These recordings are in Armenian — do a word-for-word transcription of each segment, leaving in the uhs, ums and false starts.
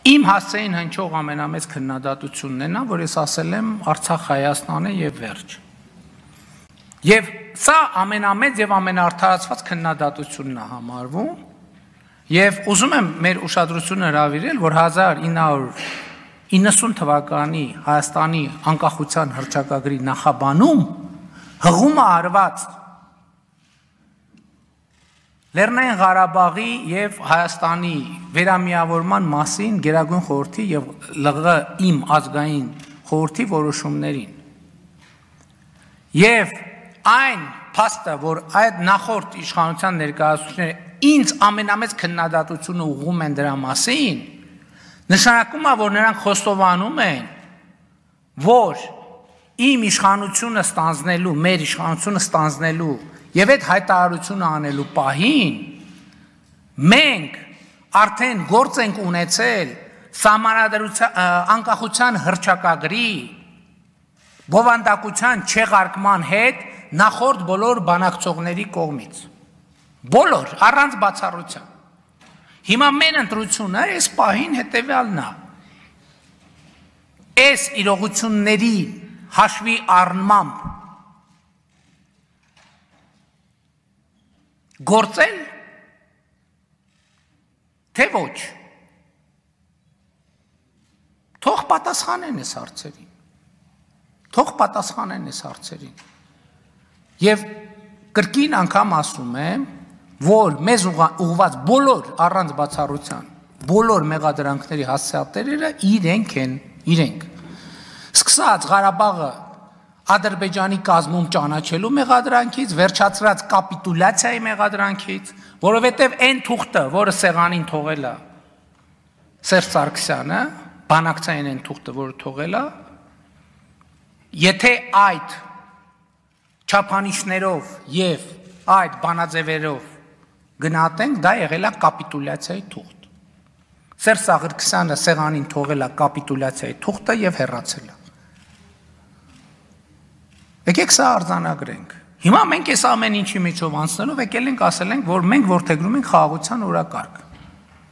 Իմ հասցեին հնչող ամենամեծ քննադատությունն է նա, որ ես ասել եմ Արցախ Հայաստան է եւ վերջ։ Եվ սա ամենամեծ եւ ամենաարդարացված քննադատությունն է համարվում, եւ ուզում եմ մեր ուշադրությունը հրավիրել, որ հազար ինը հարյուր իննսուն թվականի Հայաստանի անկախության հռչակագրի նախաբանում հղումը արված Լեռնային Ղարաբաղի եւ Հայաստանի վերամիավորման մասին Գերագույն խորհրդի եւ ԼՂ իմ ազգային խորհրդի որոշումներին։ Եվ այն փաստը, որ այդ նախորդ իշխանության ներկայացուցիչները ինձ ամենամեծ քննադատությունը ուղղում են դրա մասին, նշանակում է, որ նրանք խոստովանում են, որ իմ իշխանությունը ստանձնելու, մեր իշխանությունը ստանձնելու եւ այդ հայտարարությունը անելու պահին մենք արդեն գործ ենք ունեցել սահմանադրության անկախության հռչակագրի բովանդակության չեղարկման հետ նախորդ բոլոր բանակցողների կողմից բոլոր առանց բացառության։ Հիմա մեր ընտրությունը այս պահին հետեւյալն է։ Այս իրողությունների հաշվի առնմամբ գործել թե ոչ։ Թող պատասխանեն այս հարցերին։ Թող պատասխանեն այս հարցերին։ Եվ կրկին անգամ ասում եմ, որ մեզ ուղղված բոլոր առանց բացառության բոլոր մեղադրանքների հասցեատերերը իրենք են, իրենք։ Սկսած Ղարաբաղը Ադրբեջանի կազմում ճանաչելու մեղադրանքից, վերջացրած կապիտուլյացիայի մեղադրանքից, որովհետև այն թուղթը, որը սեղանին թողել է Սերժ Սարգսյանը, բանակցային այն թուղթը, որը թողել է, եթե այդ չափանիշներով եւ այդ բանաձևերով գնահատենք, դա եղել է կապիտուլյացիայի թուղթ։ Սերժ Սարգսյանը սեղանին թողել է կապիտուլյացիայի թուղթը եւ հեռացել է։ Եկեք սա արձանագրենք։ Հիմա մենք այս ամեն ինչի միջով անցնելով եկել ենք ասել ենք, որ մենք որդեգրում ենք խաղաղության օրակարգ։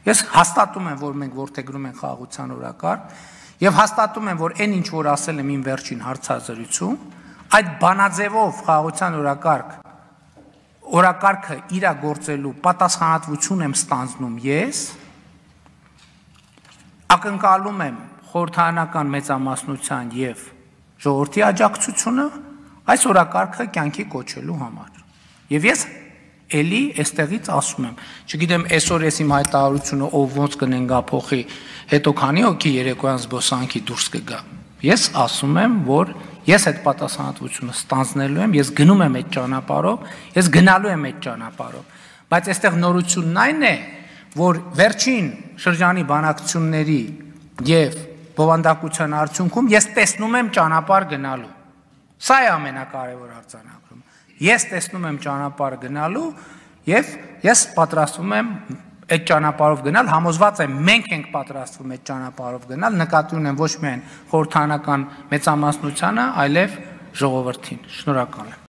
Ես հաստատում եմ, որ մենք որդեգրում ենք խաղաղության օրակարգ եւ հաստատում եմ, որ այն ինչ որ ասել եմ իմ վերջին հարցազրույցում, այդ բանաձևով խաղաղության օրակարգ օրակարգը իրագործելու պատասխանատվություն եմ ստանձնում ես, ակնկալում եմ խորհրդարանական մեծամասնության եւ ժողովրդի աջակցությունը այս օրակարգը կյանքի կոչելու համար։ Եվ ես էլի այստեղից ասում եմ, չգիտեմ այսօր ես իմ հայտարարությունը ով ոնց կնենգա փոխի, հետո քանի հոգի երեկոյան զբոսանքի դուրս կգա։ Ես ասում եմ, որ ես այդ պատասխանատվությունը ստանձնելու եմ, ես գնում եմ այդ ճանապարհով, ես գնալու եմ այդ ճանապարհով, բայց այստեղ նորությունն այն է, որ վերջին շրջանի բանակցությունների եւ բովանդակության արդյունքում ես տեսնում եմ ճանապարհ գնալու։ Սա է ամենակարևոր արձանագրումը։ Ես տեսնում եմ ճանապարհ գնալու եւ ես պատրաստվում եմ այդ ճանապարհով գնալ, համոզված եմ մենք ենք պատրաստվում այդ ճանապարհով գնալ, նկատի ունեմ ոչ միայն խորհրդարանական մեծամասնությանը, այլև ժողովրդին։ Շնորհակալ եմ։